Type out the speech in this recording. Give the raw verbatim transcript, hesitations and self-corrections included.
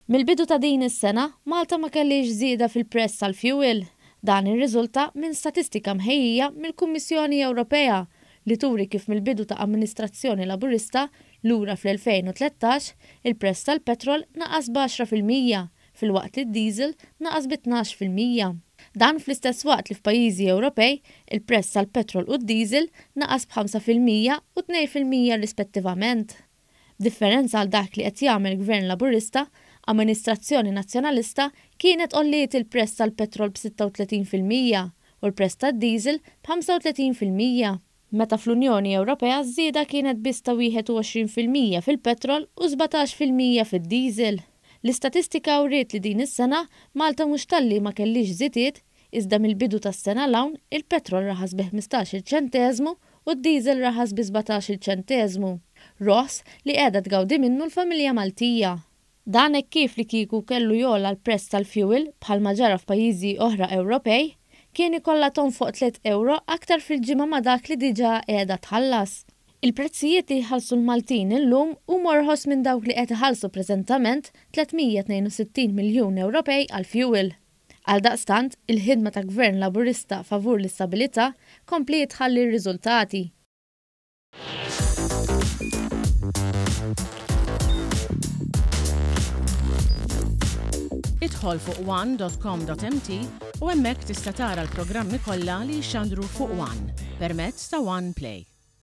Mill-bidu ta' din is-sena, Malta ma kellix żieda fil-prezz tal-fuel. Dan irriżulta minn statistika mħejjija mill-Kummissjoni Ewropea li turi kif mill-bidu ta' amministrazzjoni Laburista lura fl-elfejn u tlettax, il-prezz tal-petrol naqas b'għaxra fil-mija filwaqt li d-diesel naqas bi tnax fil-mija. Dan fl-istess waqt li f'pajjiżi Ewropej il-prezz tal-petrol u d-diesel naqas b'ħamsa fil-mija u tnejn fil-mija rispettivament. B'differenza għal dak li qed jagħmel Gvern Laburista, amministrazzjoni Nazzjonalista kienet għolliet il-prezz tal-petrol b'sitta u tletin fil-mija u l-prezz tad-diesel b'ħamsa u tletin fil-mija. Meta fl-Unjoni Ewropea ż-żieda kienet biss ta' wieħed u għoxrin fil-mija fil-petrol u sbatax fil-mija fid-diesel. L-istatistika wriet li din is-sena Malta mhux talli ma kellix żidiet, iżda mill-bidu tas-sena 'l hawn il-petrol raħas bi ħmistax-il ċenteżmu u d-diesel raħas bi sbatax-il ċenteżmu. Roħs li qiegħda tgawdi minnu l-familja Maltija. Dan hekk kif li kieku kellu jogħla l-prezz tal-fuel bħalma ġara f'pajjiżi oħra Ewropej, kien ikollha tonfoq tliet euro aktar fil-ġimgħa ma' dak li diġà qiegħda tħallas. Il-prezzijiet li jħallsu l-Maltin illum huma orħos minn dawk li qed iħallsu preżentament tliet mija tnejn u sittin miljun Ewropej għall-fuel. Għaldaqstant, il-ħidma ta' Gvern Laburista favur l-istabilità kompliet tħalli r-riżultati. Idħol fuq one dot com dot m t u hemmhekk tista' tara l-programmi kollha li jixxandru fuq One permezz ta' One Play.